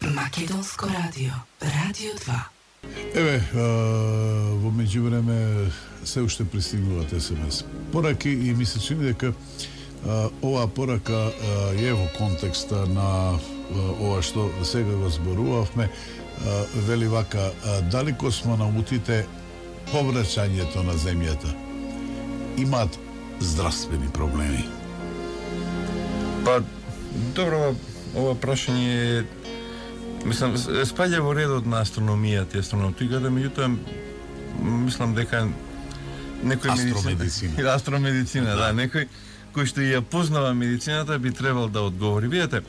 Македонско радио, Радио 2. Еве, во меѓувреме се уште пристигнуваат СМС пораки и ми се чини дека оваа порака е во контекста на ова што сега го зборувавме. Вели вака, дали космонаутите повраќањето на земјата имаат здравствени проблеми? Па, добро, ова прашање мислам, спаѓа во редот на астрономијата и астрономиката, меѓутоа, мислам дека некој астромедицина, да, некој кој што ја познава медицината би требал да одговори. Видете,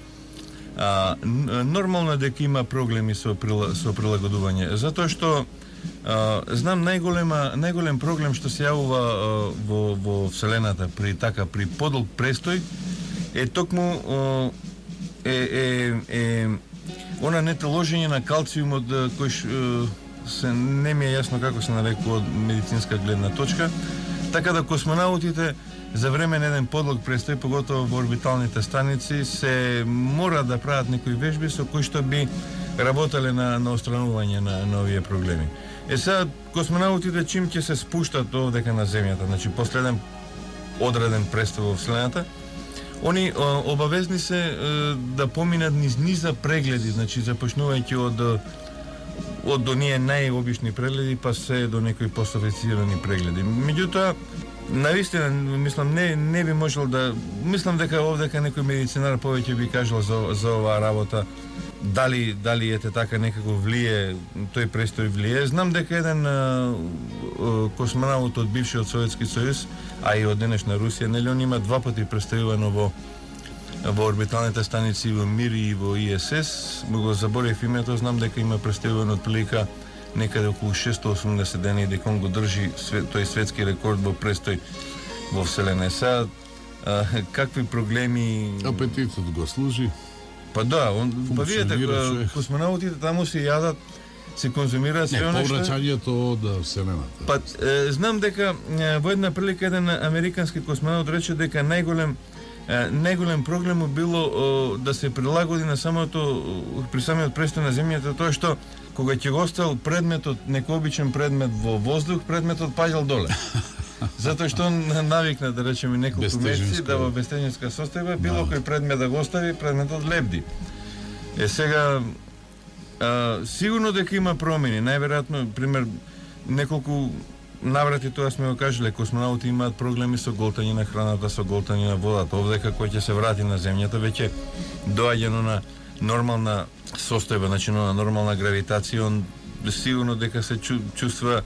нормално дека има проблеми со прилагодување, затоа што знам најголем проблем што се јавува во Вселената при подолг престој е токму она нетоложење на калциумот кој се не ми е јасно како се нарекува од медицинска гледна точка, така да космонаутите за време на еден подлог престој, поготово во орбиталните станици, се мора да прават некои вежби со кои што би работеле на отстранување на овие проблеми. Сега космонаутите чим ќе се спуштат овдека на земјата, значи последен одреден престој во Вселената, они обавезни се да поминат низ низа прегледи, значи започнувајќи од оние најобични прегледи па се до некои постофицирани прегледи. Меѓутоа, навистина, мислам, не би можел да... Мислам дека овдека некој медицинар повеќе би кажал за оваа работа, дали ете така некако влие, тој престој влие. Знам дека еден космонаут од бившиот Советски сојуз, а и од денешна Русија, нели он има 2 пати престојувано во орбиталните станици во МИР и во ИСС, го заборев името, знам дека има престојувано од прилика некаде околу 680 дена и дека он го држи тој светски рекорд во престој во Вселена. Сега, какви проблеми... Апетитот го служи. Па да, па видите, космонаутите таму се јадат, се конзумираат све она што... Повраќањето од Вселената. Па, знам дека во една прилика еден американски космонаут рече дека најголем проблем било да се прилагоди на при самиот престој на земјата тоа што кога ќе го оставил предметот, некој обичен предмет во воздух, предметот паѓал доле. Затоа што он навикна, да речеме, неколку месеци да во бестежинска состојба било кој предмет да го остави, предметот лебди. Сега сигурно дека има промени, најверојатно, пример, неколку наврати тоа сме го кажале, космонаути имаат проблеми со голтање на храната, со голтање на водата. Овдека кој ќе се врати на земјата веќе доаѓано на нормална состојба, значи на нормална гравитација, он сигурно дека се чувствува.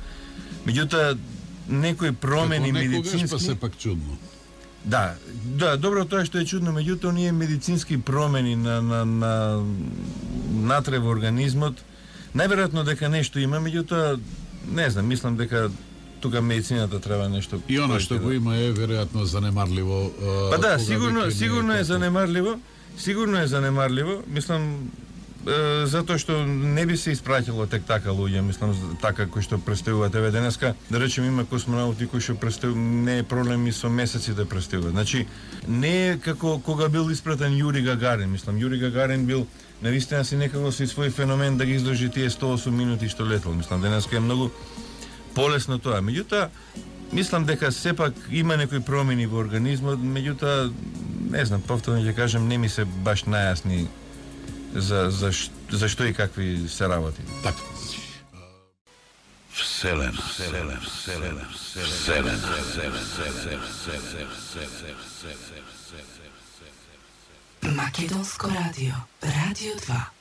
Меѓутоа некои промени медицински па се пак чудно. Да, добро тоа што е чудно, меѓутоа оние медицински промени на натре во организмот, најверојатно дека нешто има, меѓутоа не знам, мислам дека тука медицината треба нешто. И она што го има е веројатно занемарливо. Па да, сигурно е занемарливо. Сигурно е занемарливо, мислам, затоа што не би се испраќало тек така луѓе, мислам, така кои што престојуваат. Еве денеска, да речем, има космонаути кои што не е проблем и со месеци да престојуваат. Значи, не е како кога бил испратен Јури Гагарин, мислам, Јури Гагарин бил навистина си некако со свој феномен да ги издржи тие 108 минути што летел. Мислам, денеска е многу полесно тоа. Меѓутоа, мислам дека сепак има некои промени во организмот, меѓутоа не знам, повторно ќе кажам, не ми се баш најасни за што и какви се работи. Така. Вселена. Македонско радио, Радио 2.